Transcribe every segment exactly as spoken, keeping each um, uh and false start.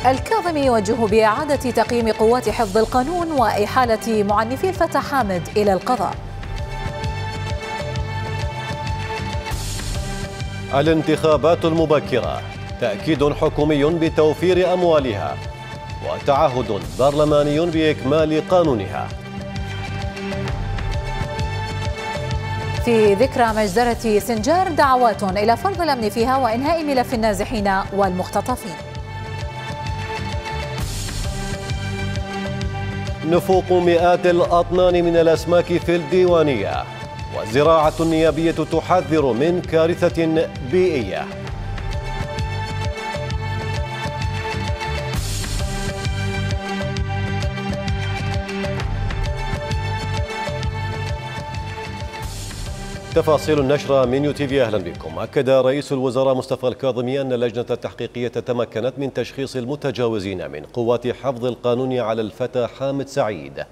الكاظمي يوجه بإعادة تقييم قوات حفظ القانون وإحالة معنفي الفتى حامد إلى القضاء. الانتخابات المبكرة تأكيد حكومي بتوفير أموالها وتعهد برلماني بإكمال قانونها. في ذكرى مجزرة سنجار دعوات إلى فرض الأمن فيها وإنهاء ملف النازحين والمختطفين. نفوق مئات الأطنان من الأسماك في الديوانية، والزراعة النيابية تحذر من كارثة بيئية. تفاصيل النشرة من يو تي في. أهلا بكم. أكد رئيس الوزراء مصطفى الكاظمي أن اللجنة التحقيقية تمكنت من تشخيص المتجاوزين من قوات حفظ القانون على الفتى حامد سعيد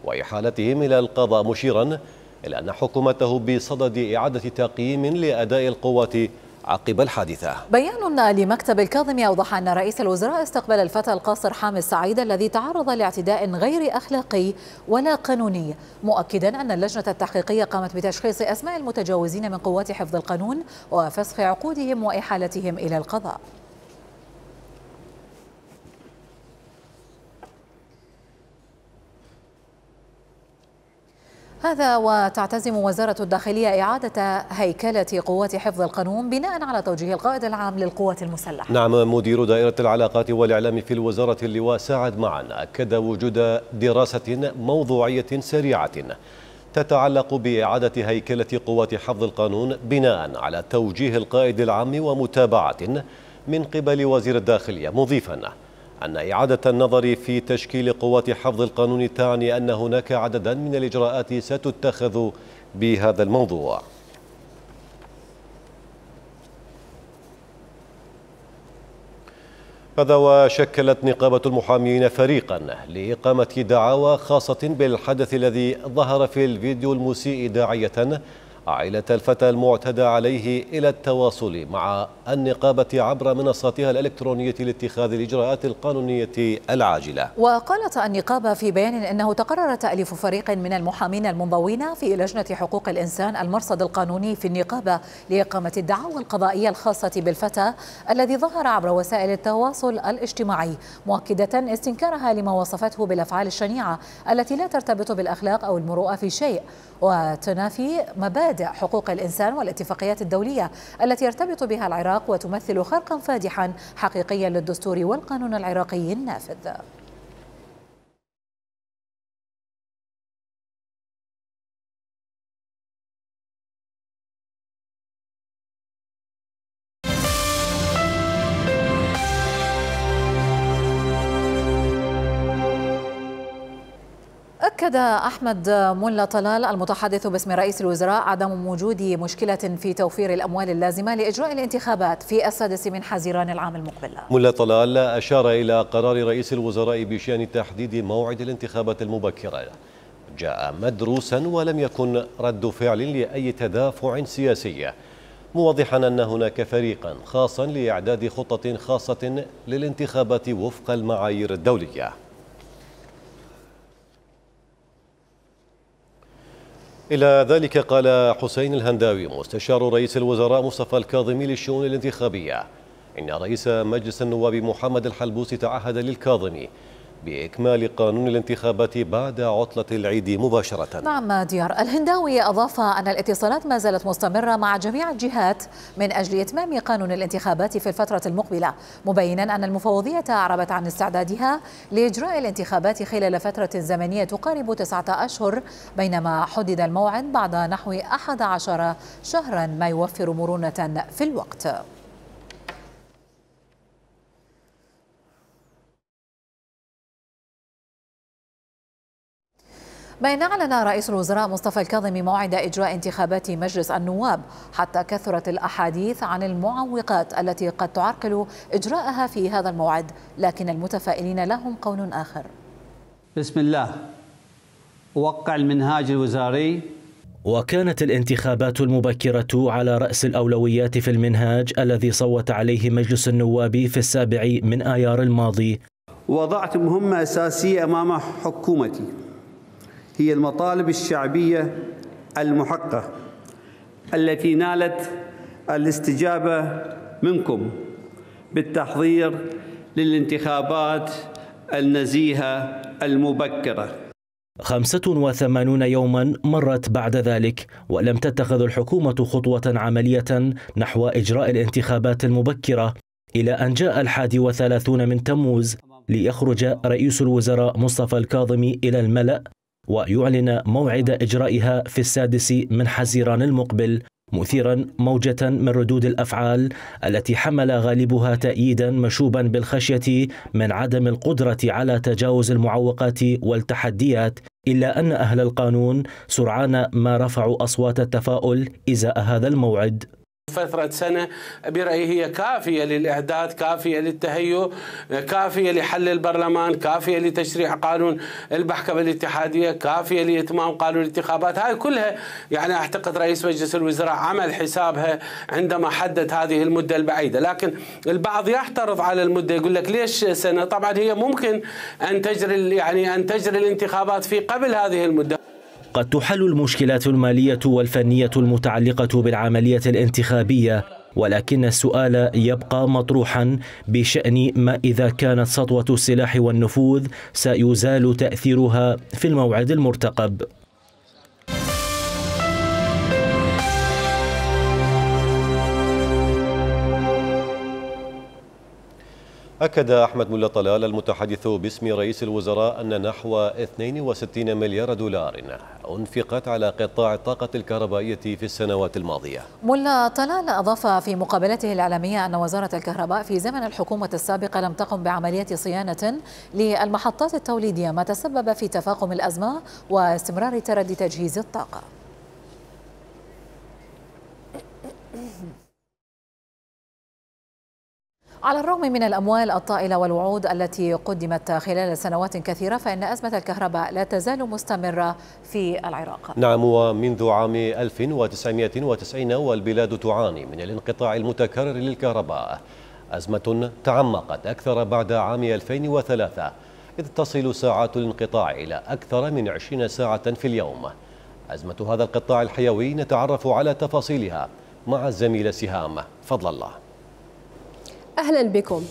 وإحالتهم إلى القضاء، مشيرا إلى أن حكومته بصدد إعادة تقييم لأداء القوات عقب الحادثة. بيان لمكتب الكاظمي أوضح أن رئيس الوزراء استقبل الفتى القاصر حامد سعيد الذي تعرض لاعتداء غير أخلاقي ولا قانوني، مؤكدا أن اللجنة التحقيقية قامت بتشخيص أسماء المتجاوزين من قوات حفظ القانون وفسخ عقودهم وإحالتهم إلى القضاء. هذا وتعتزم وزارة الداخلية إعادة هيكلة قوات حفظ القانون بناء على توجيه القائد العام للقوات المسلحة. نعم، مدير دائرة العلاقات والإعلام في الوزارة اللواء سعد معن أكد وجود دراسة موضوعية سريعة تتعلق بإعادة هيكلة قوات حفظ القانون بناء على توجيه القائد العام ومتابعة من قبل وزير الداخلية، مضيفا أن إعادة النظر في تشكيل قوات حفظ القانون تعني أن هناك عددا من الإجراءات ستتخذ بهذا الموضوع. هذا وشكلت نقابة المحامين فريقا لإقامة دعاوى خاصة بالحدث الذي ظهر في الفيديو المسيء، داعية عائلة الفتى المعتدى عليه إلى التواصل مع النقابة عبر منصاتها الإلكترونية لاتخاذ الإجراءات القانونية العاجلة. وقالت النقابة في بيان أنه تقرر تأليف فريق من المحامين المنضوين في لجنة حقوق الإنسان المرصد القانوني في النقابة لإقامة الدعاوى القضائية الخاصة بالفتى الذي ظهر عبر وسائل التواصل الاجتماعي، مؤكدة استنكارها لما وصفته بالأفعال الشنيعة التي لا ترتبط بالأخلاق أو المروءة في شيء وتنافي مبادئ حقوق الإنسان والاتفاقيات الدولية التي يرتبط بها العراق وتمثل خرقا فادحا حقيقيا للدستور والقانون العراقي النافذ. أكد أحمد ملا طلال المتحدث باسم رئيس الوزراء عدم وجود مشكلة في توفير الأموال اللازمة لإجراء الانتخابات في السادس من حزيران العام المقبل. ملا طلال أشار إلى قرار رئيس الوزراء بشأن تحديد موعد الانتخابات المبكرة جاء مدروسا ولم يكن رد فعل لأي تدافع سياسي، موضحا أن هناك فريقا خاصا لإعداد خطة خاصة للانتخابات وفق المعايير الدولية. إلى ذلك قال حسين الهنداوي مستشار رئيس الوزراء مصطفى الكاظمي للشؤون الانتخابية إن رئيس مجلس النواب محمد الحلبوسي تعهد للكاظمي بإكمال قانون الانتخابات بعد عطلة العيد مباشرة. نعم ديار. الهنداوي أضاف أن الاتصالات ما زالت مستمرة مع جميع الجهات من أجل إتمام قانون الانتخابات في الفترة المقبلة، مبينا أن المفوضية أعربت عن استعدادها لإجراء الانتخابات خلال فترة زمنية تقارب تسعة أشهر، بينما حدد الموعد بعد نحو أحد عشر شهرا ما يوفر مرونة في الوقت. بين أعلن رئيس الوزراء مصطفى الكاظمي موعد إجراء انتخابات مجلس النواب، حتى كثرت الأحاديث عن المعوقات التي قد تعرقل إجراءها في هذا الموعد، لكن المتفائلين لهم قول آخر. بسم الله، أوقع المنهاج الوزاري وكانت الانتخابات المبكرة على رأس الأولويات في المنهاج الذي صوت عليه مجلس النواب في السابع من آيار الماضي. وضعت مهمة أساسية أمام حكومتي، هي المطالب الشعبية المحققة التي نالت الاستجابة منكم بالتحضير للانتخابات النزيهة المبكرة. خمسة وثمانون يوما مرت بعد ذلك ولم تتخذ الحكومة خطوة عملية نحو إجراء الانتخابات المبكرة، إلى أن جاء الحادي وثلاثون من تموز ليخرج رئيس الوزراء مصطفى الكاظمي إلى الملأ ويعلن موعد إجرائها في السادس من حزيران المقبل، مثيرا موجة من ردود الأفعال التي حمل غالبها تأييدا مشوبا بالخشية من عدم القدرة على تجاوز المعوقات والتحديات، إلا أن أهل القانون سرعان ما رفعوا أصوات التفاؤل إزاء هذا الموعد. فترة سنة برأيي هي كافية للإعداد، كافية للتهيؤ، كافية لحل البرلمان، كافية لتشريع قانون المحكمة الاتحادية، كافية لإتمام قانون الانتخابات. هاي كلها يعني أعتقد رئيس مجلس الوزراء عمل حسابها عندما حدد هذه المدة البعيدة. لكن البعض يعترض على المدة، يقول لك ليش سنة؟ طبعا هي ممكن أن تجري يعني أن تجري الانتخابات في قبل هذه المدة. قد تحل المشكلات المالية والفنية المتعلقة بالعملية الانتخابية، ولكن السؤال يبقى مطروحا بشأن ما إذا كانت سطوة السلاح والنفوذ سيزال تأثيرها في الموعد المرتقب. أكد أحمد ملا طلال المتحدث باسم رئيس الوزراء أن نحو اثنين وستين مليار دولار أنفقت على قطاع الطاقة الكهربائية في السنوات الماضية. ملا طلال أضاف في مقابلته الإعلامية أن وزارة الكهرباء في زمن الحكومة السابقة لم تقم بعملية صيانة للمحطات التوليدية، ما تسبب في تفاقم الأزمة واستمرار تردي تجهيز الطاقة. على الرغم من الأموال الطائلة والوعود التي قدمت خلال سنوات كثيرة، فإن أزمة الكهرباء لا تزال مستمرة في العراق. نعم، ومنذ عام ألف وتسعمائة وتسعين والبلاد تعاني من الانقطاع المتكرر للكهرباء، أزمة تعمقت أكثر بعد عام ألفين وثلاثة، إذ تصل ساعات الانقطاع إلى أكثر من عشرين ساعة في اليوم. أزمة هذا القطاع الحيوي نتعرف على تفاصيلها مع الزميلة سهام فضل الله. أهلا بكم.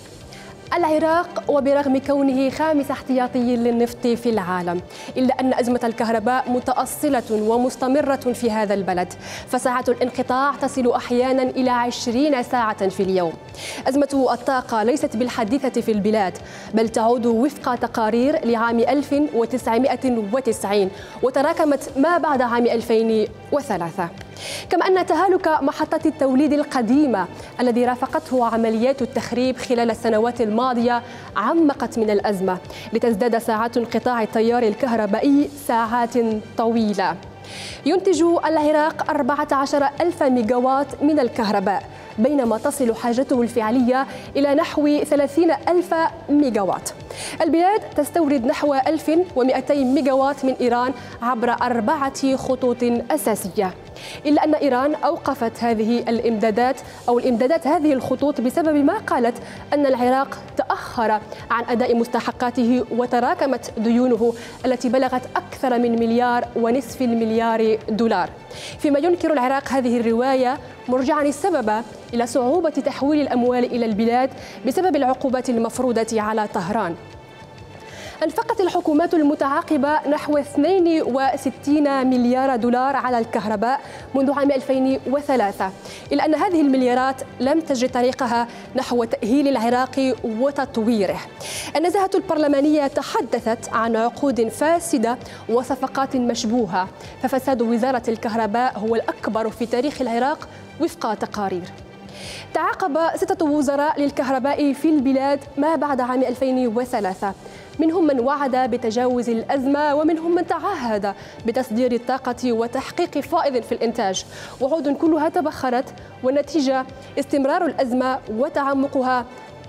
العراق وبرغم كونه خامس احتياطي للنفط في العالم، إلا أن أزمة الكهرباء متأصلة ومستمرة في هذا البلد، فساعات الانقطاع تصل أحيانا إلى عشرين ساعة في اليوم. أزمة الطاقة ليست بالحديثة في البلاد، بل تعود وفق تقارير لعام ألف وتسعمائة وتسعين وتراكمت ما بعد عام ألفين وثلاثة. كما أن تهالك محطة التوليد القديمة الذي رافقته عمليات التخريب خلال السنوات الماضية عمقت من الأزمة، لتزداد ساعات انقطاع التيار الكهربائي ساعات طويلة. ينتج العراق أربعة عشر ألف ميجاوات من الكهرباء، بينما تصل حاجته الفعلية إلى نحو ثلاثين ألف ميجاوات. البلاد تستورد نحو ألف ومئتين ميجاوات من إيران عبر أربعة خطوط أساسية، إلا أن إيران أوقفت هذه الإمدادات أو الإمدادات هذه الخطوط بسبب ما قالت أن العراق تأخر عن أداء مستحقاته وتراكمت ديونه التي بلغت أكثر من مليار ونصف المليار دولار. فيما ينكر العراق هذه الرواية، مرجعا السبب إلى صعوبة تحويل الأموال إلى البلاد بسبب العقوبات المفروضة على طهران. أنفقت الحكومات المتعاقبة نحو اثنين وستين مليار دولار على الكهرباء منذ عام ألفين وثلاثة، إلا أن هذه المليارات لم تجد طريقها نحو تأهيل العراق وتطويره. النزاهة البرلمانية تحدثت عن عقود فاسدة وصفقات مشبوهة، ففساد وزارة الكهرباء هو الأكبر في تاريخ العراق وفق تقارير. تعاقب ستة وزراء للكهرباء في البلاد ما بعد عام ألفين وثلاثة، منهم من وعد بتجاوز الأزمة ومنهم من تعهد بتصدير الطاقة وتحقيق فائض في الإنتاج، وعود كلها تبخرت، والنتيجة استمرار الأزمة وتعمقها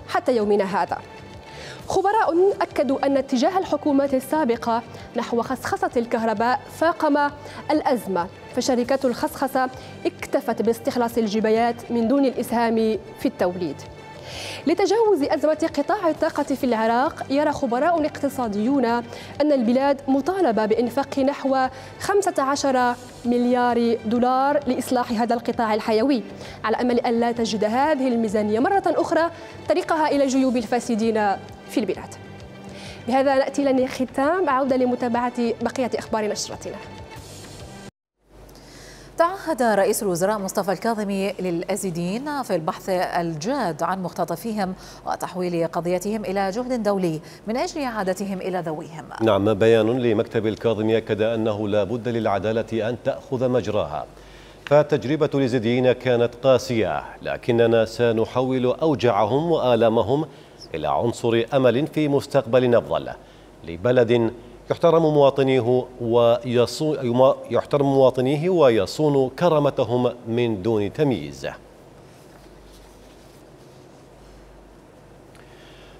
حتى يومنا هذا. خبراء أكدوا أن اتجاه الحكومات السابقة نحو خصخصة الكهرباء فاقم الأزمة، فشركات الخصخصة اكتفت باستخلاص الجبايات من دون الإسهام في التوليد. لتجاوز أزمة قطاع الطاقة في العراق، يرى خبراء اقتصاديون أن البلاد مطالبة بإنفاق نحو خمسة عشر مليار دولار لإصلاح هذا القطاع الحيوي، على أمل أن لا تجد هذه الميزانية مرة أخرى طريقها إلى جيوب الفاسدين في البلاد. بهذا نأتي لختام، عودة لمتابعة بقية أخبار نشرتنا. تعهد رئيس الوزراء مصطفى الكاظمي للأزيديين في البحث الجاد عن مختطفيهم وتحويل قضيتهم إلى جهد دولي من أجل إعادتهم إلى ذويهم. نعم، بيان لمكتب الكاظمي أكد أنه لا بد للعدالة أن تأخذ مجراها، فالتجربة اليزيديين كانت قاسية، لكننا سنحول أوجاعهم وآلامهم إلى عنصر أمل في مستقبل أفضل لبلد يحترم مواطنيه ويصون يحترم مواطنيه ويصون كرامتهم من دون تمييز.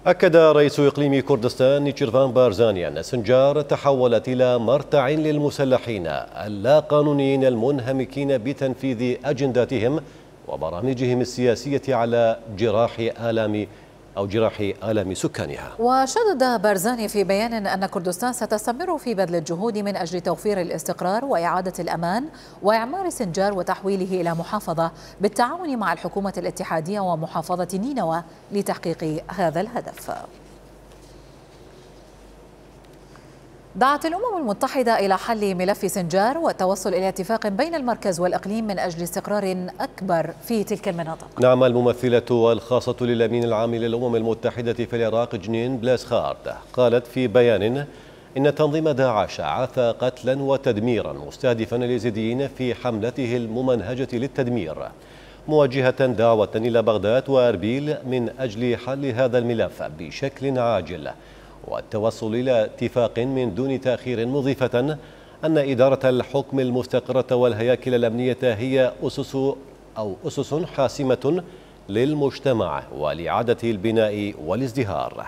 أكد رئيس إقليم كردستان نيتشيرفان بارزاني أن سنجار تحولت إلى مرتع للمسلحين اللا قانونيين المنهمكين بتنفيذ أجنداتهم وبرامجهم السياسية على جراح آلام أو جراح آلام سكانها. وشدد بارزاني في بيان أن كردستان ستستمر في بذل الجهود من أجل توفير الاستقرار وإعادة الأمان وإعمار سنجار وتحويله إلى محافظة بالتعاون مع الحكومة الاتحادية ومحافظة نينوى لتحقيق هذا الهدف. دعت الأمم المتحدة إلى حل ملف سنجار والتوصل إلى اتفاق بين المركز والإقليم من أجل استقرار أكبر في تلك المناطق. نعم، الممثلة الخاصة للأمين العام للأمم المتحدة في العراق جنين بلاسخارد قالت في بيان إن تنظيم داعش عاث قتلا وتدميرا مستهدفا اليزيديين في حملته الممنهجة للتدمير، موجهة دعوة إلى بغداد وأربيل من أجل حل هذا الملف بشكل عاجل والتوصل إلى اتفاق من دون تأخير، مضيفة أن إدارة الحكم المستقرة والهياكل الأمنية هي أسس أو أسس حاسمة للمجتمع ولإعادة البناء والازدهار.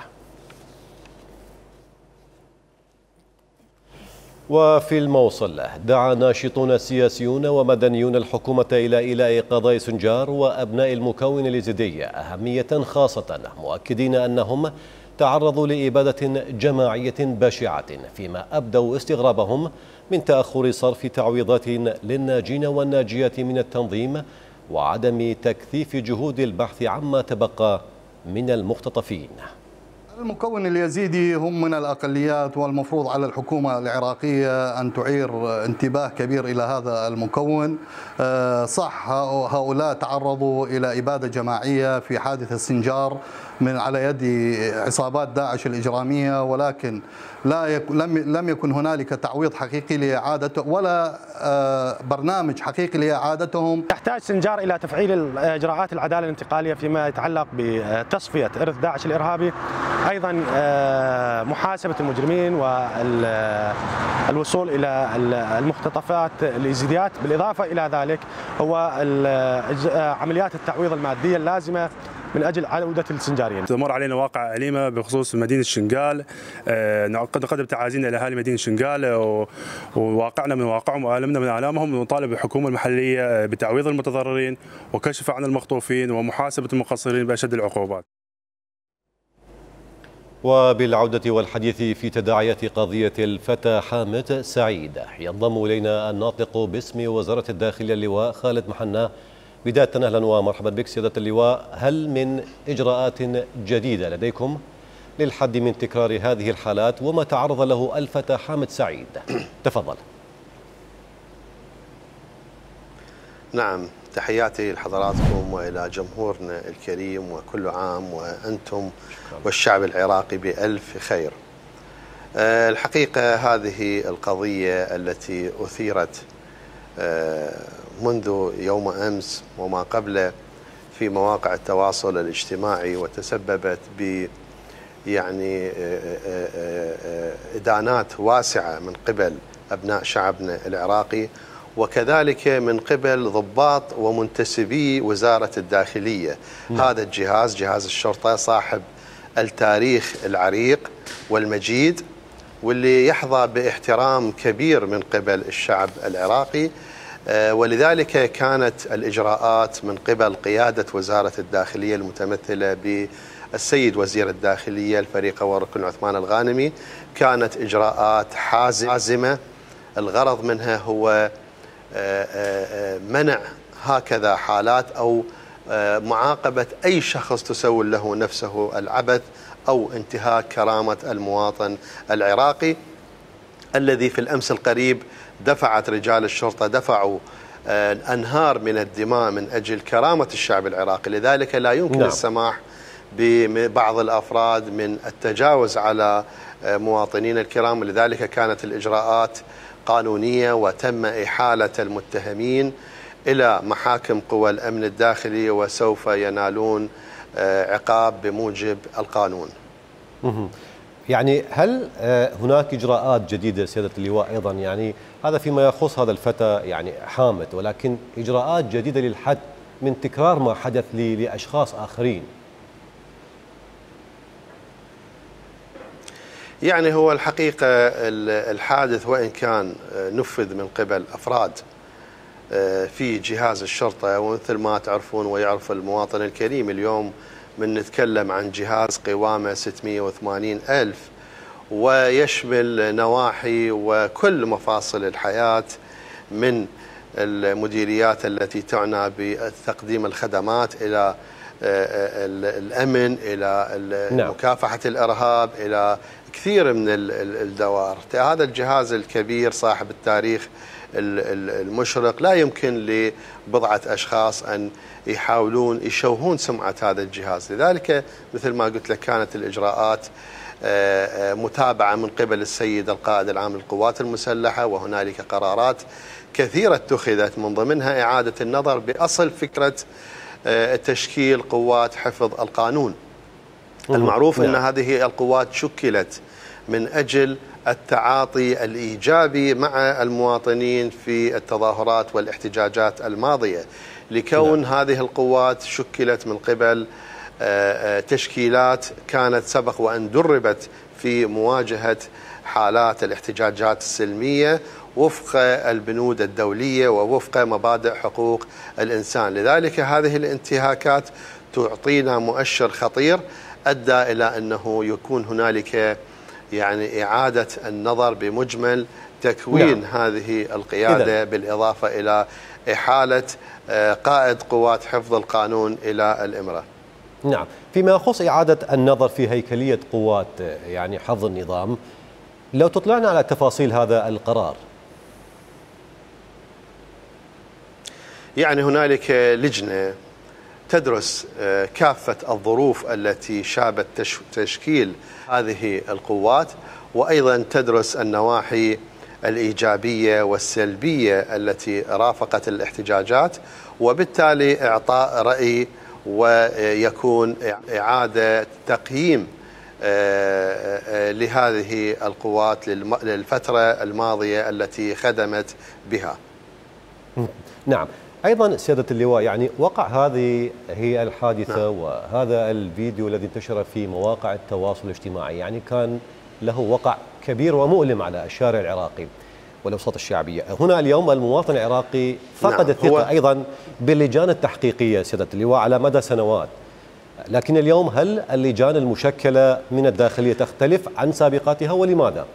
وفي الموصل دعا ناشطون سياسيون ومدنيون الحكومة إلى إيلاء قضايا سنجار وأبناء المكون اليزيدي أهمية خاصة، مؤكدين أنهم تعرضوا لإبادة جماعية بشعة، فيما أبدوا استغرابهم من تأخر صرف تعويضات للناجين والناجيات من التنظيم وعدم تكثيف جهود البحث عما تبقى من المختطفين. المكون اليزيدي هم من الأقليات، والمفروض على الحكومة العراقية أن تعير انتباه كبير إلى هذا المكون. صح، هؤلاء تعرضوا إلى إبادة جماعية في حادث السنجار من على يد عصابات داعش الإجرامية، ولكن لا يك لم لم يكن هنالك تعويض حقيقي لإعادته ولا برنامج حقيقي لإعادتهم. تحتاج سنجار إلى تفعيل إجراءات العدالة الانتقالية فيما يتعلق بتصفية إرث داعش الإرهابي، أيضا محاسبة المجرمين والوصول إلى المختطفات اليزيديات، بالإضافة إلى ذلك هو عمليات التعويض المادية اللازمة من أجل عودة السنجاريين. تمر علينا واقع أليمة بخصوص مدينة شنقال، نقدم نقدم تعازينا لأهالي مدينة شنقال وواقعنا من واقعهم وآلمنا من آلامهم، ونطالب الحكومة المحلية بتعويض المتضررين وكشف عن المخطوفين ومحاسبة المقصرين بأشد العقوبات. وبالعودة والحديث في تداعيات قضية الفتى حامد سعيد، ينضم إلينا الناطق باسم وزارة الداخلية اللواء خالد محنا. بداية أهلا ومرحبا بك سيادة اللواء، هل من إجراءات جديدة لديكم للحد من تكرار هذه الحالات وما تعرض له الفتى حامد سعيد؟ تفضل. نعم، تحياتي لحضراتكم وإلى جمهورنا الكريم، وكل عام وأنتم والشعب العراقي بألف خير. الحقيقة هذه القضية التي أثيرت منذ يوم أمس وما قبله في مواقع التواصل الاجتماعي وتسببت ب يعني إدانات واسعة من قبل أبناء شعبنا العراقي، وكذلك من قبل ضباط ومنتسبي وزارة الداخلية. م. هذا الجهاز، جهاز الشرطة، صاحب التاريخ العريق والمجيد، واللي يحظى باحترام كبير من قبل الشعب العراقي. ولذلك كانت الإجراءات من قبل قيادة وزارة الداخلية المتمثلة بالسيد وزير الداخلية الفريق والركن عثمان الغانمي كانت إجراءات حازمة. الغرض منها هو منع هكذا حالات أو معاقبة أي شخص تسول له نفسه العبث أو انتهاك كرامة المواطن العراقي، الذي في الأمس القريب دفعت رجال الشرطة دفعوا أنهار من الدماء من أجل كرامة الشعب العراقي. لذلك لا يمكن نعم. السماح ببعض الأفراد من التجاوز على مواطنين الكرام، لذلك كانت الإجراءات قانونية وتم إحالة المتهمين إلى محاكم قوى الأمن الداخلي وسوف ينالون عقاب بموجب القانون. يعني هل هناك إجراءات جديدة سيادة اللواء أيضا، يعني هذا فيما يخص هذا الفتى يعني حامد، ولكن إجراءات جديدة للحد من تكرار ما حدث لأشخاص آخرين؟ يعني هو الحقيقة الحادث وإن كان نفذ من قبل أفراد في جهاز الشرطة، ومثل ما تعرفون ويعرف المواطن الكريم اليوم من نتكلم عن جهاز قوامه ستمئة وثمانين ألف ويشمل نواحي وكل مفاصل الحياة، من المديريات التي تعنى بتقديم الخدمات إلى الأمن إلى مكافحة الإرهاب إلى كثير من الدوائر. هذا الجهاز الكبير صاحب التاريخ المشرق لا يمكن لبضعة أشخاص أن يحاولون يشوهون سمعة هذا الجهاز. لذلك مثل ما قلت لك كانت الإجراءات متابعة من قبل السيد القائد العام للقوات المسلحة، وهنالك قرارات كثيرة اتخذت من ضمنها إعادة النظر بأصل فكرة تشكيل قوات حفظ القانون. المعروف أن هذه القوات شكلت من أجل التعاطي الإيجابي مع المواطنين في التظاهرات والاحتجاجات الماضية، لكون نعم. هذه القوات شكلت من قبل تشكيلات كانت سبق وأن دربت في مواجهة حالات الاحتجاجات السلمية وفق البنود الدولية ووفق مبادئ حقوق الإنسان. لذلك هذه الانتهاكات تعطينا مؤشر خطير أدى إلى أنه يكون هنالك يعني إعادة النظر بمجمل تكوين نعم. هذه القيادة إذن. بالإضافة إلى إحالة قائد قوات حفظ القانون إلى الإمرة. نعم، فيما يخص إعادة النظر في هيكلية قوات يعني حفظ النظام، لو تطلعنا على تفاصيل هذا القرار. يعني هنالك لجنة تدرس كافة الظروف التي شابت تشكيل هذه القوات، وأيضا تدرس النواحي الإيجابية والسلبية التي رافقت الاحتجاجات، وبالتالي إعطاء رأي ويكون إعادة تقييم لهذه القوات للفترة الماضية التي خدمت بها. نعم، أيضا سيادة اللواء يعني وقع هذه هي الحادثة نعم. وهذا الفيديو الذي انتشر في مواقع التواصل الاجتماعي يعني كان له وقع كبير ومؤلم على الشارع العراقي والأوساط الشعبية. هنا اليوم المواطن العراقي فقد نعم. الثقة أيضا باللجان التحقيقية سيادة اللواء على مدى سنوات، لكن اليوم هل اللجان المشكلة من الداخلية تختلف عن سابقاتها ولماذا؟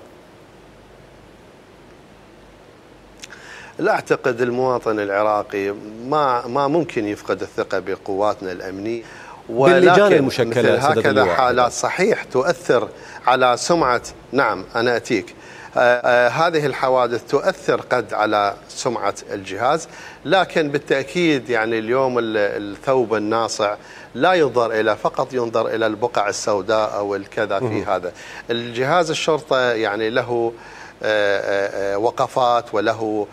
لا أعتقد المواطن العراقي ما ما ممكن يفقد الثقة بقواتنا الأمنية، باللجان المشكلة مثل هكذا حالات صحيح تؤثر على سمعة. نعم أنا أتيك. آه آه هذه الحوادث تؤثر قد على سمعة الجهاز، لكن بالتأكيد يعني اليوم الثوب الناصع لا ينظر إلى فقط ينظر إلى البقع السوداء أو الكذا في هذا الجهاز. الشرطة يعني له آه آه وقفات وله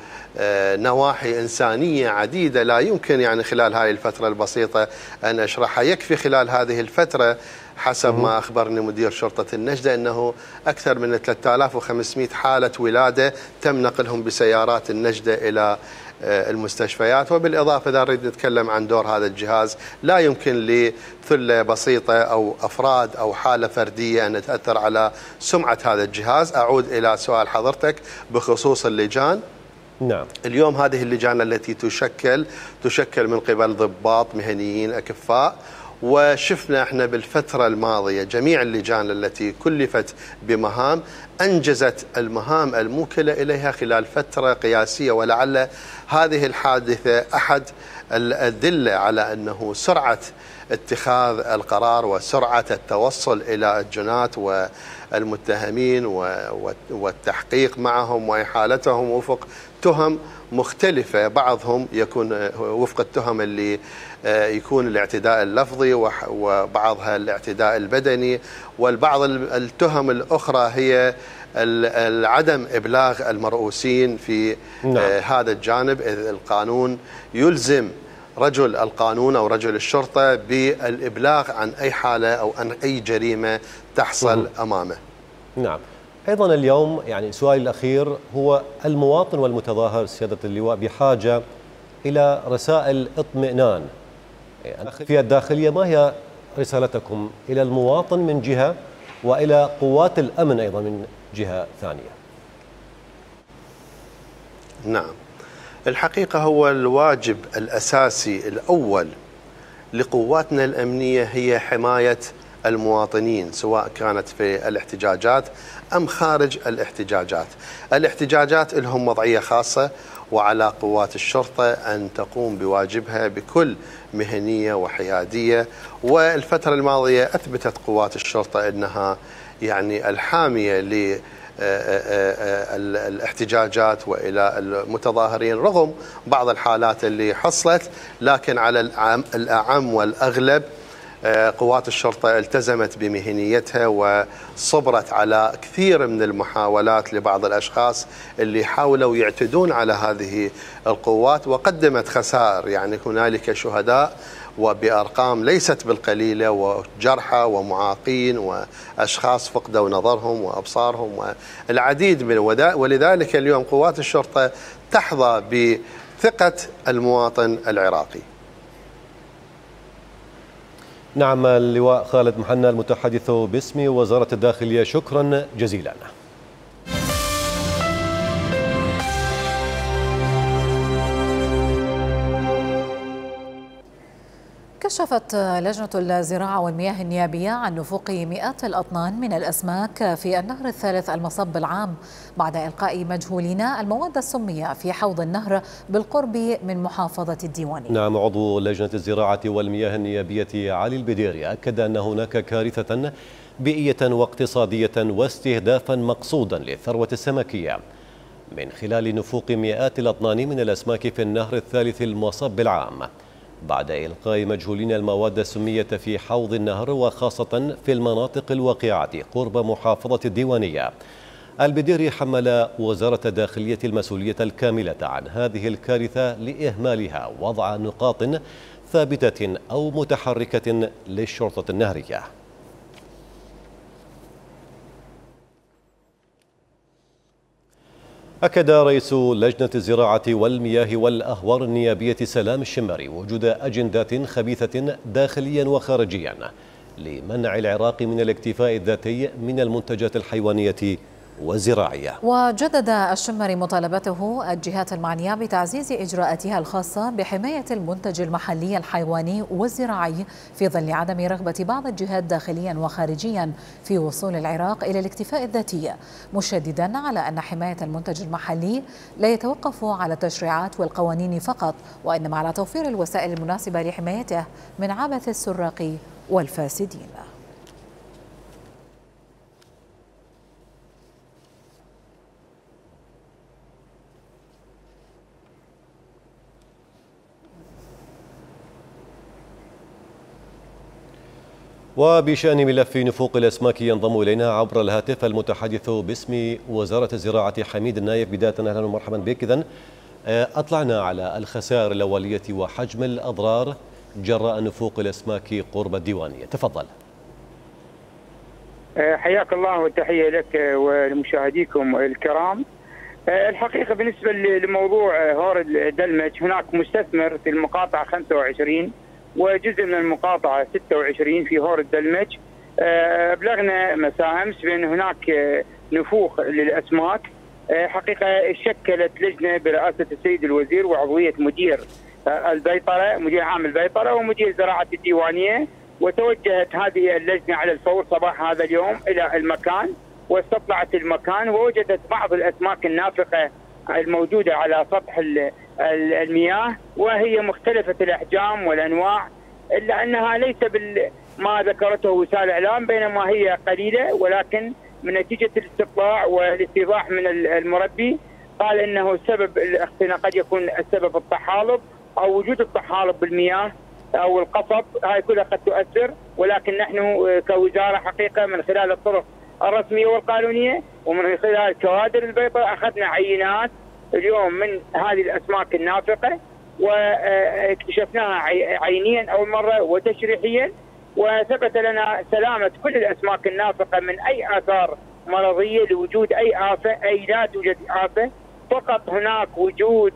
نواحي إنسانية عديدة لا يمكن يعني خلال هذه الفترة البسيطة أن أشرحها. يكفي خلال هذه الفترة حسب ما أخبرني مدير شرطة النجدة أنه أكثر من ثلاثة آلاف وخمسمئة حالة ولادة تم نقلهم بسيارات النجدة إلى المستشفيات. وبالإضافة إذا نريد نتكلم عن دور هذا الجهاز، لا يمكن لثلة بسيطة أو أفراد أو حالة فردية أن تأثر على سمعة هذا الجهاز. أعود إلى سؤال حضرتك بخصوص اللجان. نعم. اليوم هذه اللجان التي تشكل تشكل من قبل ضباط مهنيين أكفاء، وشفنا احنا بالفترة الماضية جميع اللجان التي كلفت بمهام أنجزت المهام الموكلة إليها خلال فترة قياسية، ولعل هذه الحادثة أحد الأدلة على أنه سرعة اتخاذ القرار وسرعة التوصل إلى الجنات والمتهمين والتحقيق معهم وإحالتهم وفق تهم مختلفة. بعضهم يكون وفق التهم اللي يكون الاعتداء اللفظي، وبعضها الاعتداء البدني، والبعض التهم الأخرى هي عدم إبلاغ المرؤوسين في نعم. هذا الجانب، إذ القانون يلزم رجل القانون أو رجل الشرطة بالإبلاغ عن أي حالة أو عن أي جريمة تحصل مه. أمامه. نعم. أيضا اليوم يعني سؤالي الأخير هو المواطن والمتظاهر سيادة اللواء بحاجة إلى رسائل اطمئنان في الداخلية. ما هي رسالتكم إلى المواطن من جهة وإلى قوات الأمن أيضا من جهة ثانية؟ نعم، الحقيقة هو الواجب الأساسي الأول لقواتنا الأمنية هي حماية المواطنين، سواء كانت في الاحتجاجات أم خارج الاحتجاجات. الاحتجاجات لهم وضعية خاصة، وعلى قوات الشرطة أن تقوم بواجبها بكل مهنية وحيادية. والفترة الماضية أثبتت قوات الشرطة أنها يعني الحامية للاحتجاجات وإلى المتظاهرين رغم بعض الحالات اللي حصلت، لكن على الأعم والأغلب قوات الشرطة التزمت بمهنيتها وصبرت على كثير من المحاولات لبعض الأشخاص اللي حاولوا يعتدون على هذه القوات، وقدمت خسائر. يعني هنالك شهداء وبأرقام ليست بالقليلة، وجرحى ومعاقين وأشخاص فقدوا نظرهم وأبصارهم والعديد من ودا. ولذلك اليوم قوات الشرطة تحظى بثقة المواطن العراقي. نعم، اللواء خالد محنى المتحدث باسم وزارة الداخلية، شكرا جزيلا. كشفت لجنة الزراعة والمياه النيابية عن نفوق مئات الأطنان من الأسماك في النهر الثالث المصب العام بعد إلقاء مجهولين المواد السمية في حوض النهر بالقرب من محافظة الديوانية. نعم، عضو لجنة الزراعة والمياه النيابية علي البديري أكد أن هناك كارثة بيئية واقتصادية واستهدافا مقصودا للثروة السمكية من خلال نفوق مئات الأطنان من الأسماك في النهر الثالث المصب العام بعد إلقاء مجهولين المواد السمية في حوض النهر، وخاصة في المناطق الواقعة قرب محافظة الديوانية. البديري حمل وزارة الداخلية المسؤولية الكاملة عن هذه الكارثة لإهمالها وضع نقاط ثابتة أو متحركة للشرطة النهرية. أكد رئيس لجنة الزراعة والمياه والأهوار النيابية سلام الشمري وجود أجندات خبيثة داخليا وخارجيا لمنع العراق من الاكتفاء الذاتي من المنتجات الحيوانية والزراعية. وجدد الشمري مطالبته الجهات المعنية بتعزيز إجراءاتها الخاصة بحماية المنتج المحلي الحيواني والزراعي في ظل عدم رغبة بعض الجهات داخليا وخارجيا في وصول العراق إلى الاكتفاء الذاتي، مشددا على أن حماية المنتج المحلي لا يتوقف على التشريعات والقوانين فقط، وإنما على توفير الوسائل المناسبة لحمايته من عبث السراق والفاسدين. وبشأن ملف نفوق الأسماك ينضم إلينا عبر الهاتف المتحدث باسم وزارة الزراعة حميد النايف. بداية أهلا ومرحبا بك. إذن أطلعنا على الخسائر الأولية وحجم الأضرار جراء نفوق الأسماك قرب الديوانية، تفضل. حياك الله وتحية لك ولمشاهديكم الكرام. الحقيقة بالنسبة لموضوع هور الدلمج، هناك مستثمر في المقاطعة خمسة وعشرين وجزء من المقاطعة ستة وعشرين في هور الدلمج. أبلغنا مساء أمس بأن هناك نفوخ للأسماك. حقيقة شكلت لجنة برئاسة السيد الوزير وعضوية مدير البيطرة، مدير عام البيطرة ومدير زراعة الديوانية، وتوجهت هذه اللجنة على الفور صباح هذا اليوم إلى المكان، واستطلعت المكان ووجدت بعض الأسماك النافقة الموجودة على سطح المياه، وهي مختلفة الأحجام والأنواع، إلا أنها ليس ما ذكرته وسائل الإعلام، بينما هي قليلة، ولكن من نتيجة الاستطلاع والاستيضاح من المربي قال إنه السبب الاختناق قد يكون السبب الطحالب أو وجود الطحالب بالمياه أو القصب، هاي كلها قد تؤثر. ولكن نحن كوزارة حقيقة من خلال الطرق الرسمية والقانونية ومن خلال كوادر البيطرة أخذنا عينات اليوم من هذه الأسماك النافقة واكتشفناها عينيا أول مرة وتشريحيا، وثبت لنا سلامة كل الأسماك النافقة من أي آثار مرضية لوجود أي آفة، أي لا توجد آفة، فقط هناك وجود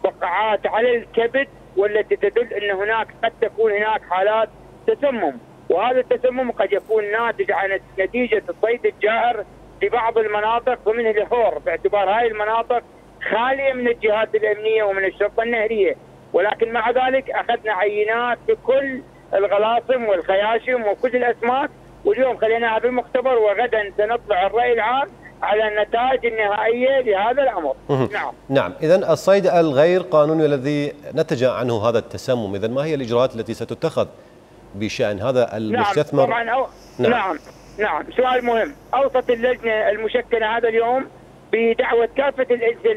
بقعات على الكبد والتي تدل أن هناك قد تكون هناك حالات تسمم، وهذا التسمم قد يكون ناتج عن نتيجة الصيد الجائر لبعض المناطق ومن الهور، باعتبار هاي المناطق خالية من الجهات الأمنية ومن الشرطة النهرية. ولكن مع ذلك أخذنا عينات بكل الغلاصم والخياشم وكل الأسماك، واليوم خليناها بالمختبر، وغدا سنطلع الرأي العام على النتائج النهائية لهذا الأمر. نعم نعم. إذن الصيد الغير قانوني الذي نتج عنه هذا التسمم، إذن ما هي الإجراءات التي ستتخذ بشأن هذا المستثمر؟ نعم طبعا أو... نعم. نعم نعم سؤال مهم. أوصت اللجنة المشكلة هذا اليوم بدعوة كافة الأجهزة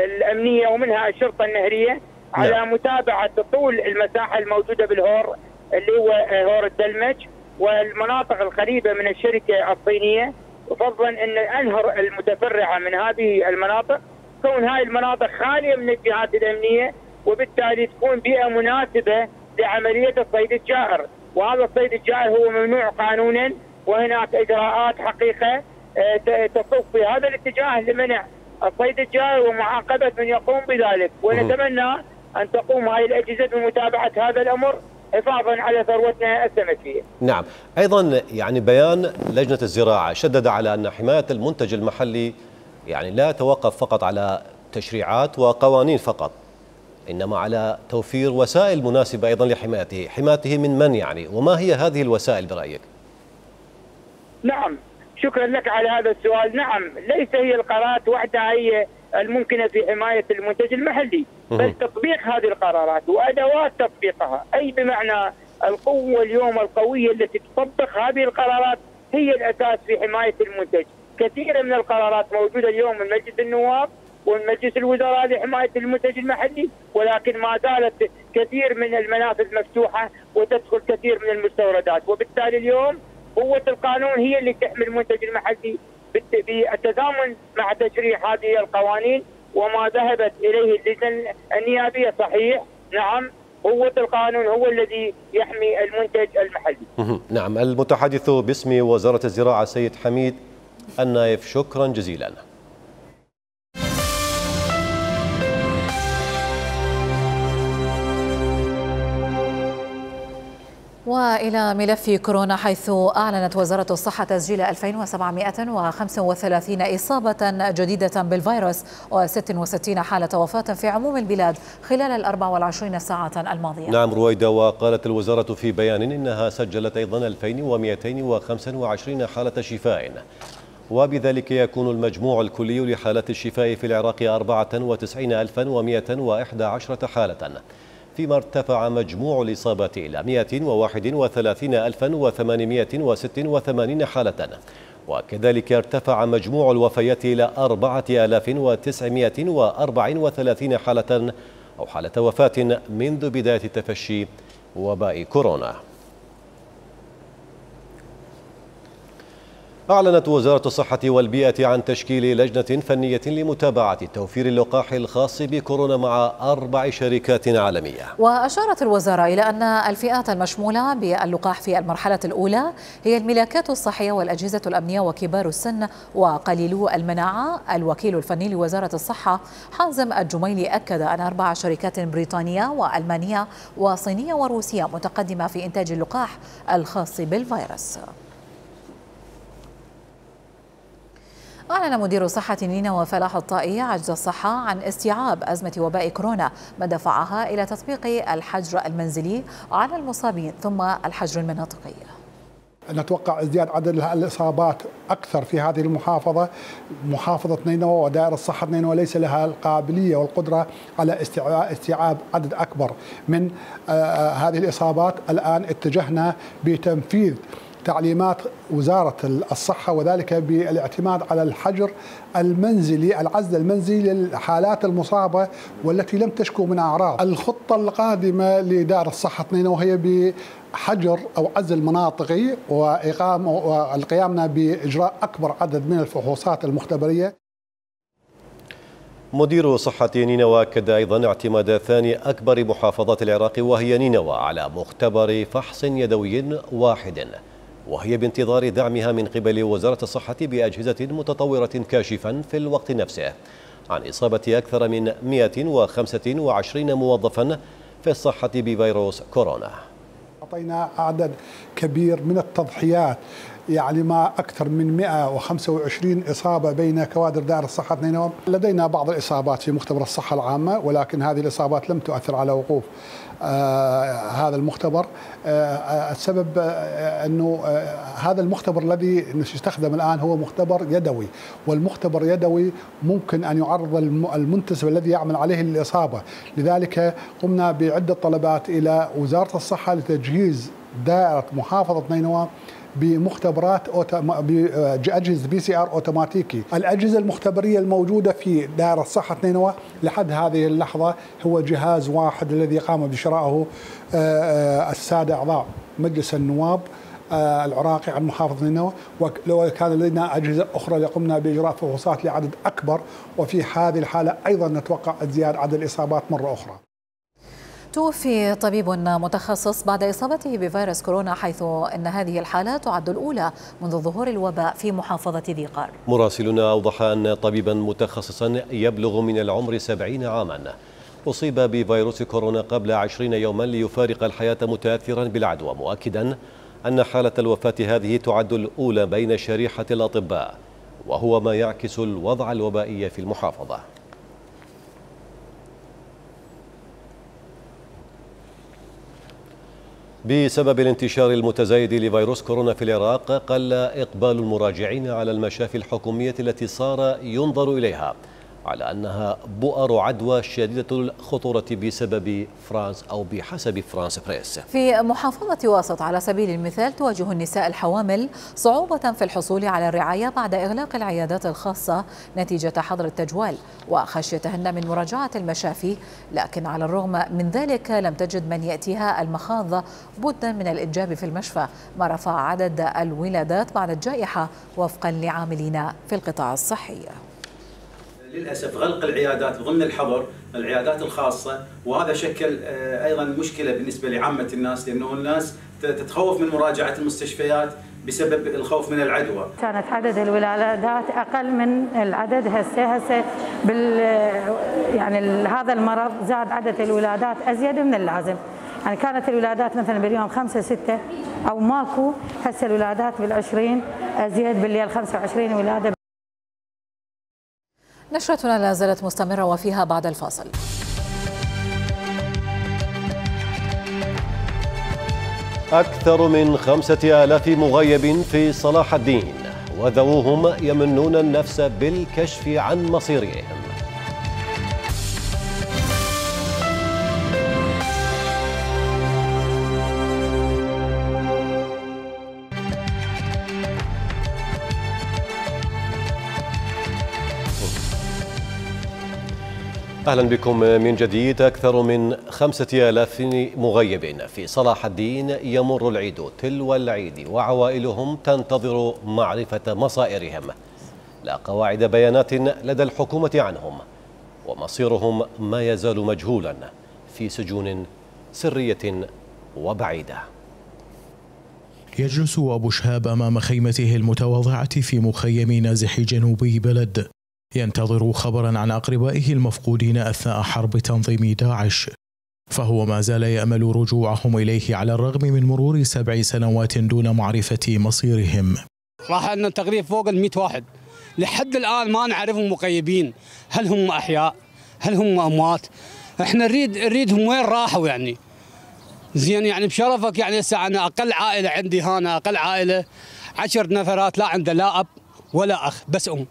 الأمنية ومنها الشرطة النهرية على نعم. متابعة طول المساحة الموجودة بالهور اللي هو هور الدلمج والمناطق القريبة من الشركة الصينية، وفضلا أن الأنهر المتفرعة من هذه المناطق تكون هاي المناطق خالية من الجهات الأمنية، وبالتالي تكون بيئة مناسبة لعملية الصيد الجائر. وهذا الصيد الجائر هو ممنوع قانونا، وهناك إجراءات حقيقة تصب في هذا الاتجاه لمنع الصيد الجائر ومعاقبة من يقوم بذلك، ونتمنى أن تقوم هاي الأجهزة بمتابعة هذا الأمر حفاظا على ثروتنا السمكية. نعم. أيضا يعني بيان لجنة الزراعة شدد على أن حماية المنتج المحلي يعني لا توقف فقط على تشريعات وقوانين فقط، إنما على توفير وسائل مناسبة أيضا لحمايته. حمايته من من يعني، وما هي هذه الوسائل برأيك؟ نعم شكرا لك على هذا السؤال. نعم ليس هي القرارات وحدها هي الممكنة في حماية المنتج المحلي، بل تطبيق هذه القرارات وأدوات تطبيقها، أي بمعنى القوة اليوم القوية التي تطبق هذه القرارات هي الأساس في حماية المنتج. كثير من القرارات موجودة اليوم من مجلس النواب ومن مجلس الوزراء لحماية المنتج المحلي، ولكن ما زالت كثير من المنافذ مفتوحة وتدخل كثير من المستوردات، وبالتالي اليوم قوة القانون هي اللي تحمي المنتج المحلي بالتزامن مع تشريع هذه القوانين وما ذهبت إليه اللجنة النيابية. صحيح نعم قوة القانون هو الذي يحمي المنتج المحلي. نعم. المتحدث باسم وزارة الزراعة سيد حميد النايف، شكرا جزيلا. وإلى ملف كورونا، حيث أعلنت وزارة الصحة تسجيل ألفين وسبعمائة وخمسة وثلاثين إصابة جديدة بالفيروس وستة وستين حالة وفاة في عموم البلاد خلال الأربع والعشرين ساعة الماضية. نعم رويدة. وقالت الوزارة في بيان إنها سجلت أيضا ألفين ومئتين وخمسة وعشرين حالة شفاء، وبذلك يكون المجموع الكلي لحالات الشفاء في العراق أربعة وتسعين ألفا ومئة وإحدى عشرة حالة، فيما ارتفع مجموع الإصابات إلى مئة وواحد وثلاثين ألفا وثمانمئة وستة وثمانين حالة، وكذلك ارتفع مجموع الوفيات إلى أربعة آلاف وتسعمئة وأربعة وثلاثين حالة أو حالة وفاة منذ بداية تفشي وباء كورونا. أعلنت وزارة الصحة والبيئة عن تشكيل لجنة فنية لمتابعة توفير اللقاح الخاص بكورونا مع أربع شركات عالمية. وأشارت الوزارة إلى أن الفئات المشمولة باللقاح في المرحلة الأولى هي الملاكات الصحية والأجهزة الأمنية وكبار السن وقليلو المناعة. الوكيل الفني لوزارة الصحة حازم الجميلي أكد أن أربع شركات بريطانية وألمانية وصينية وروسية متقدمة في إنتاج اللقاح الخاص بالفيروس. أعلن مدير صحة نينوى فلاح الطائي عجز الصحة عن استيعاب أزمة وباء كورونا، ما دفعها إلى تطبيق الحجر المنزلي على المصابين ثم الحجر المناطقي. نتوقع ازدياد عدد الإصابات أكثر في هذه المحافظة. محافظة نينوى ودائرة صحة نينوى ليس لها القابلية والقدرة على استيعاب عدد أكبر من هذه الإصابات. الآن اتجهنا بتنفيذ تعليمات وزارة الصحة وذلك بالاعتماد على الحجر المنزلي، العزل المنزلي للحالات المصابة والتي لم تشكو من أعراض. الخطة القادمة لدائرة الصحة نينوى هي بحجر أو عزل مناطقي وإقامة والقيامنا بإجراء أكبر عدد من الفحوصات المختبرية. مدير صحة نينوى أكد أيضا اعتماد ثاني أكبر محافظات العراق وهي نينوى على مختبر فحص يدوي واحد، وهي بانتظار دعمها من قبل وزارة الصحة بأجهزة متطورة كاشفا في الوقت نفسه عن إصابة أكثر من مئة وخمسة وعشرين موظفا في الصحة بفيروس كورونا. أعطينا عدد كبير من التضحيات، يعني ما أكثر من مئة وخمسة وعشرين إصابة بين كوادر دائرة الصحة نينوى. لدينا بعض الإصابات في مختبر الصحة العامة، ولكن هذه الإصابات لم تؤثر على وقوف آه هذا المختبر. آه السبب آه أنه آه هذا المختبر الذي يستخدم الآن هو مختبر يدوي، والمختبر يدوي ممكن أن يعرض المنتسب الذي يعمل عليه الإصابة. لذلك قمنا بعدة طلبات إلى وزارة الصحة لتجهيز دائرة محافظة نينوى بمختبرات بأجهزة بي سي ار اوتوماتيكي. الأجهزة المختبرية الموجودة في دائرة صحة نينوى لحد هذه اللحظة هو جهاز واحد الذي قام بشرائه السادة أعضاء مجلس النواب العراقي عن محافظة نينوى، ولو كان لدينا أجهزة أخرى لقمنا بإجراء فحوصات لعدد أكبر، وفي هذه الحالة أيضا نتوقع ازدياد عدد الإصابات مرة أخرى. توفي طبيب متخصص بعد إصابته بفيروس كورونا، حيث أن هذه الحالة تعد الأولى منذ ظهور الوباء في محافظة ذي قار. مراسلنا أوضح أن طبيبا متخصصا يبلغ من العمر سبعين عاما أصيب بفيروس كورونا قبل عشرين يوما ليفارق الحياة متأثرا بالعدوى، مؤكدا أن حالة الوفاة هذه تعد الأولى بين شريحة الأطباء، وهو ما يعكس الوضع الوبائي في المحافظة. بسبب الانتشار المتزايد لفيروس كورونا في العراق، قل إقبال المراجعين على المشافي الحكومية التي صار ينظر إليها على أنها بؤر عدوى شديدة الخطورة بسبب فرانس أو بحسب فرانس بريس. في محافظة واسط على سبيل المثال تواجه النساء الحوامل صعوبة في الحصول على الرعاية بعد إغلاق العيادات الخاصة نتيجة حظر التجوال وخشيتهن من مراجعة المشافي، لكن على الرغم من ذلك لم تجد من يأتيها المخاض بدا من الإنجاب في المشفى، ما رفع عدد الولادات بعد الجائحة وفقا لعاملين في القطاع الصحي. للأسف غلق العيادات ضمن الحظر، العيادات الخاصة، وهذا شكل أيضا مشكلة بالنسبة لعامة الناس، لأنه الناس تتخوف من مراجعة المستشفيات بسبب الخوف من العدوى. كانت عدد الولادات أقل من العدد هسه هسه بال يعني هذا المرض زاد عدد الولادات أزيد من اللازم. يعني كانت الولادات مثلا باليوم خمسة ستة أو ماكو، هسه الولادات بالعشرين أزيد، بالليل خمسة وعشرين ولادة. نشرتنا لا زالت مستمرة وفيها بعد الفاصل. أكثر من خمسة آلاف مغيب في صلاح الدين وذووهم يمنون النفس بالكشف عن مصيرهم. أهلا بكم من جديد. أكثر من خمسة آلاف مغيب في صلاح الدين يمر العيد تلو العيد وعوائلهم تنتظر معرفة مصائرهم. لا قواعد بيانات لدى الحكومة عنهم، ومصيرهم ما يزال مجهولا في سجون سرية وبعيدة. يجلس أبو شهاب أمام خيمته المتواضعة في مخيم نازح جنوبي بلد، ينتظر خبرا عن أقربائه المفقودين أثناء حرب تنظيم داعش، فهو ما زال يأمل رجوعهم إليه على الرغم من مرور سبع سنوات دون معرفة مصيرهم. راح لنا تقريبا فوق المئة واحد لحد الآن ما نعرفهم مغيبين، هل هم أحياء هل هم أموات؟ احنا نريد نريدهم وين راحوا يعني. زين يعني بشرفك يعني هسه أنا أقل عائلة عندي هنا، أقل عائلة عشر نفرات، لا عنده لا أب ولا أخ، بس أم.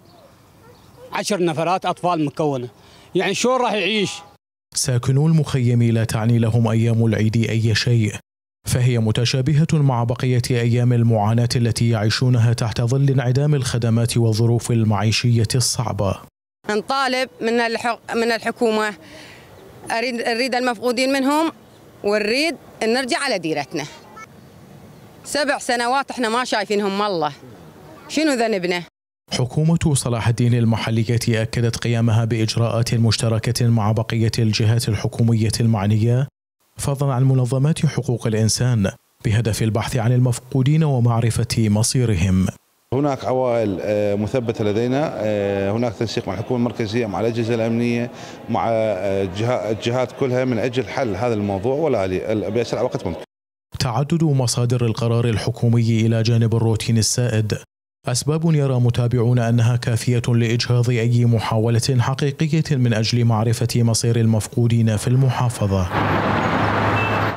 عشر نفرات أطفال مكونة، يعني شلون راح يعيش؟ ساكنو المخيم لا تعني لهم أيام العيد أي شيء، فهي متشابهة مع بقية أيام المعاناة التي يعيشونها تحت ظل انعدام الخدمات والظروف المعيشية الصعبة. نطالب من الحق من الحكومة، أريد نريد المفقودين منهم، ونريد أن نرجع على ديرتنا. سبع سنوات احنا ما شايفينهم، والله شنو ذنبنا؟ حكومة صلاح الدين المحلية أكدت قيامها بإجراءات مشتركة مع بقية الجهات الحكومية المعنية، فضلا عن منظمات حقوق الإنسان، بهدف البحث عن المفقودين ومعرفة مصيرهم. هناك عوائل مثبتة لدينا، هناك تنسيق مع الحكومة المركزية مع الأجهزة الأمنية مع الجهات كلها من أجل حل هذا الموضوع ولا بأسرع وقت ممكن. تعدد مصادر القرار الحكومي إلى جانب الروتين السائد أسباب يرى متابعون أنها كافية لإجهاض أي محاولة حقيقية من أجل معرفة مصير المفقودين في المحافظة.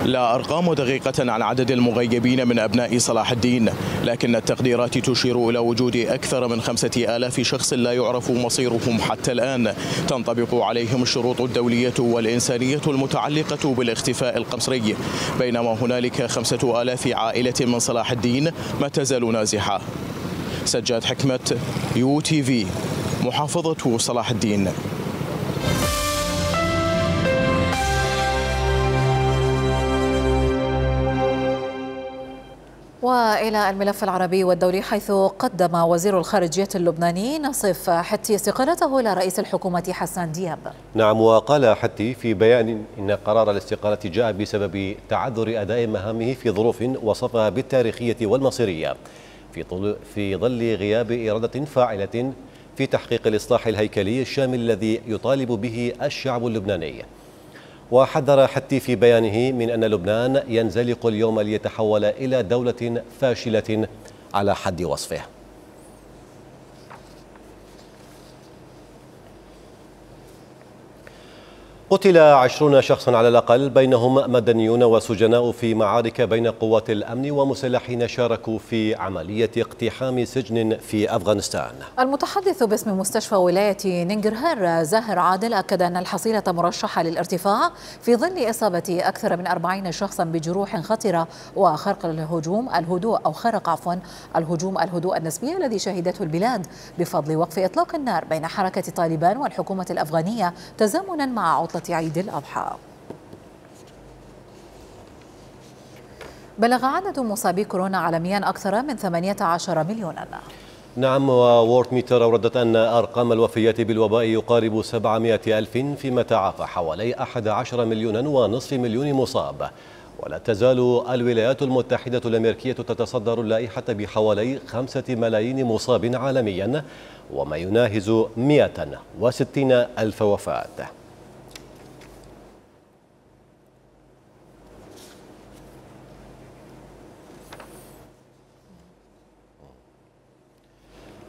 لا أرقام دقيقة عن عدد المغيبين من أبناء صلاح الدين، لكن التقديرات تشير إلى وجود أكثر من خمسة آلاف شخص لا يعرف مصيرهم حتى الآن، تنطبق عليهم الشروط الدولية والإنسانية المتعلقة بالاختفاء القسري، بينما هنالك خمسة آلاف عائلة من صلاح الدين ما تزال نازحة. سجاد حكمة، يو تي في، محافظة صلاح الدين. وإلى الملف العربي والدولي، حيث قدم وزير الخارجية اللبناني نصيف حتي استقالته إلى رئيس الحكومة حسان دياب. نعم، وقال حتي في بيان إن قرار الاستقالة جاء بسبب تعذر أداء مهامه في ظروف وصفها بالتاريخية والمصيرية، في في ظل غياب إرادة فاعلة في تحقيق الإصلاح الهيكلي الشامل الذي يطالب به الشعب اللبناني. وحذر حتي في بيانه من أن لبنان ينزلق اليوم ليتحول إلى دولة فاشلة على حد وصفه. قتل عشرون شخصا على الأقل، بينهم مدنيون وسجناء، في معارك بين قوات الأمن ومسلحين شاركوا في عملية اقتحام سجن في أفغانستان. المتحدث باسم مستشفى ولاية ننجرهار زاهر عادل أكد أن الحصيلة مرشحة للارتفاع في ظل إصابة أكثر من أربعين شخصا بجروح خطرة وخرق الهجوم الهدوء أو خرق عفوا الهجوم الهدوء النسبي الذي شهدته البلاد بفضل وقف إطلاق النار بين حركة طالبان والحكومة الأفغانية تزامنا مع عطلة عيد الأضحى. بلغ عدد مصابي كورونا عالميا أكثر من ثمانية عشر مليونا. نعم، وورد ميتر أوردت أن أرقام الوفيات بالوباء يقارب سبعمائة ألف، فيما تعافى حوالي أحد عشر مليونا ونصف مليون مصاب. ولا تزال الولايات المتحدة الأمريكية تتصدر اللائحة بحوالي خمسة ملايين مصاب عالميا، وما يناهز مئة وستين ألف وفاة.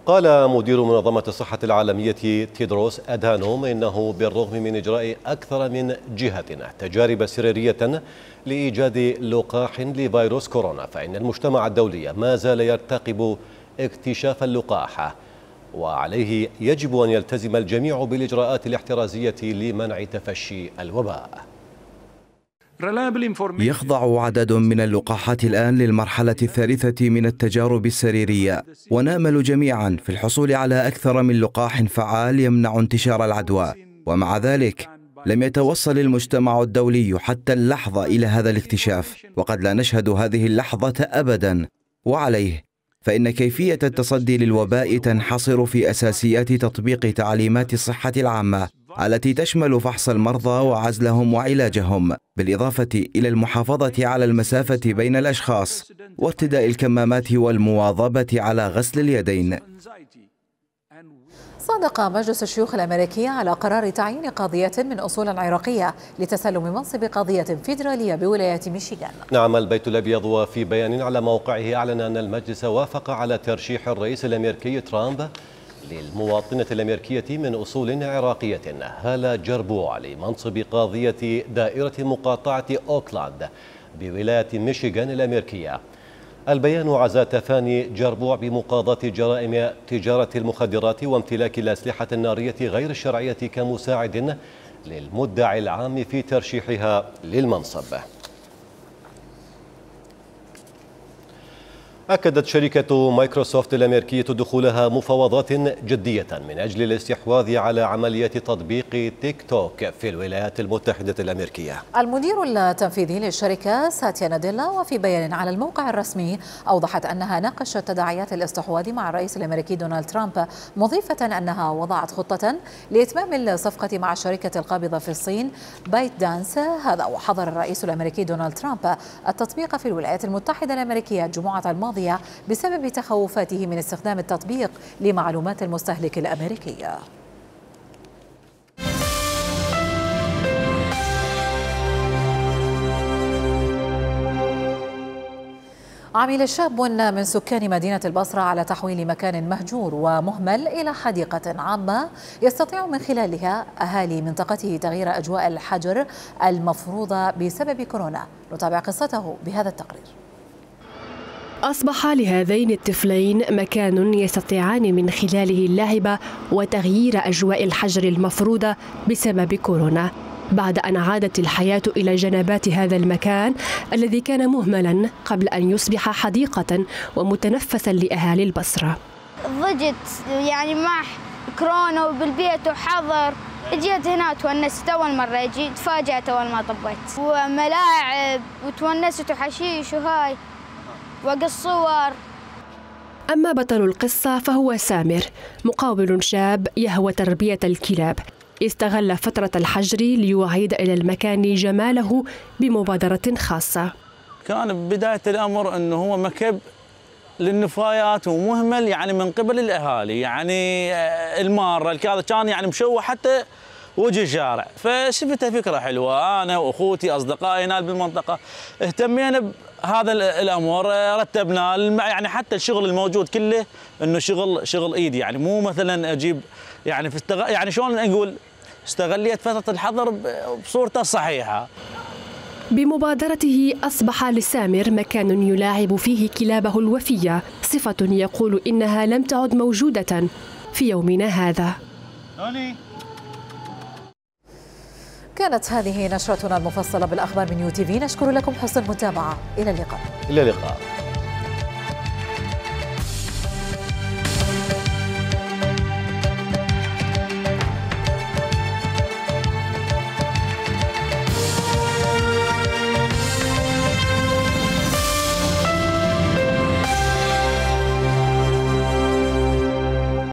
قال مدير منظمة الصحة العالمية تيدروس أدهانوم إنه بالرغم من إجراء أكثر من جهة تجارب سريرية لإيجاد لقاح لفيروس كورونا، فإن المجتمع الدولي ما زال يرتقب اكتشاف اللقاح، وعليه يجب أن يلتزم الجميع بالإجراءات الاحترازية لمنع تفشي الوباء. يخضع عدد من اللقاحات الآن للمرحلة الثالثة من التجارب السريرية، ونأمل جميعا في الحصول على أكثر من لقاح فعال يمنع انتشار العدوى. ومع ذلك لم يتوصل المجتمع الدولي حتى اللحظة إلى هذا الاكتشاف، وقد لا نشهد هذه اللحظة أبدا. وعليه فإن كيفية التصدي للوباء تنحصر في أساسيات تطبيق تعليمات الصحة العامة التي تشمل فحص المرضى وعزلهم وعلاجهم، بالإضافة إلى المحافظة على المسافة بين الأشخاص وارتداء الكمامات والمواظبة على غسل اليدين. صادق مجلس الشيوخ الأمريكي على قرار تعيين قاضية من أصول عراقية لتسلم منصب قاضية فيدرالية بولاية ميشيغان. نعم البيت الأبيض، وفي بيان على موقعه أعلن أن المجلس وافق على ترشيح الرئيس الأمريكي ترامب للمواطنة الأمريكية من أصول عراقية هالة جربوع لمنصب قاضية دائرة مقاطعة أوكلاند بولاية ميشيغان الأمريكية. البيان عزا تفاني جربوع بمقاضاة جرائم تجارة المخدرات وامتلاك الأسلحة النارية غير الشرعية كمساعد للمدعي العام في ترشيحها للمنصب. أكدت شركة مايكروسوفت الأمريكية دخولها مفاوضات جدية من أجل الاستحواذ على عملية تطبيق تيك توك في الولايات المتحدة الأمريكية. المدير التنفيذي للشركة ساتيا ناديلا وفي بيان على الموقع الرسمي أوضحت أنها ناقشت تداعيات الاستحواذ مع الرئيس الأمريكي دونالد ترامب، مضيفة أنها وضعت خطة لإتمام الصفقة مع الشركة القابضة في الصين بايت دانس. هذا وحظر الرئيس الأمريكي دونالد ترامب التطبيق في الولايات المتحدة الأمريكية الجمعة الماضية بسبب تخوفاته من استخدام التطبيق لمعلومات المستهلك الأمريكية. عمل شاب من سكان مدينة البصرة على تحويل مكان مهجور ومهمل إلى حديقة عامة يستطيع من خلالها أهالي منطقته تغيير أجواء الحجر المفروضة بسبب كورونا. نتابع قصته بهذا التقرير. أصبح لهذين الطفلين مكان يستطيعان من خلاله اللعب وتغيير أجواء الحجر المفروضة بسبب كورونا، بعد أن عادت الحياة إلى جنبات هذا المكان الذي كان مهملا قبل أن يصبح حديقة ومتنفسا لأهالي البصرة. ضجت يعني مع كورونا وبالبيت وحظر، جيت هنا تونست أول مرة، جيت تفاجأت أول ما طبيت، وملاعب وتونست وحشيش وهاي وقص صور. أما بطل القصة فهو سامر، مقاول شاب يهوى تربية الكلاب، استغل فترة الحجر ليعيد إلى المكان جماله بمبادرة خاصة. كان بداية الأمر أنه هو مكب للنفايات ومهمل يعني من قبل الأهالي، يعني المارة كذا كان يعني مشوه حتى وجه الشارع، فشفتها فكرة حلوة. أنا وأخوتي أصدقائي هنا بالمنطقة اهتمينا بهذا الأمر، رتبنا يعني حتى الشغل الموجود كله إنه شغل شغل إيدي، يعني مو مثلا أجيب يعني في استغ... يعني شلون نقول استغليت فترة الحظر بصورته الصحيحة. بمبادرته أصبح لسامر مكان يلاعب فيه كلابه الوفية، صفة يقول إنها لم تعد موجودة في يومنا هذا. كانت هذه نشرتنا المفصلة بالأخبار من يو تي في، نشكر لكم حسن المتابعة، إلى اللقاء. إلى اللقاء.